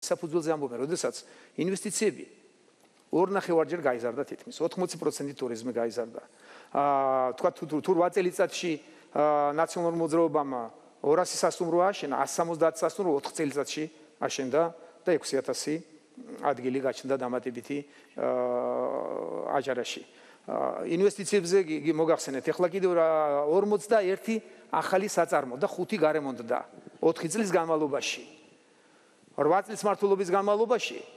საფუძველზე ამბობენ, როდესაც ინვესტიციები 2.5-ჯერ გაიზარდა თითქმის 80% ტურიზმი გაიზარდა. თქვა თუ 8 წელიწადში ნაციონალურ მოძრაობამ 200 სასტუმრო აშენა, 170 სასტუმრო 4 წელიწადში აშენდა და 6,000 ადგილი გაჩნდა დამატებითი აჯარაში. ინვესტიციებზე მოგახსენეთ, ახლა კიდევ 41 ახალი საწარმო და 5 გარემონტდა 4 წლის განმავლობაში. 8 წლის მართლობის განმავლობაში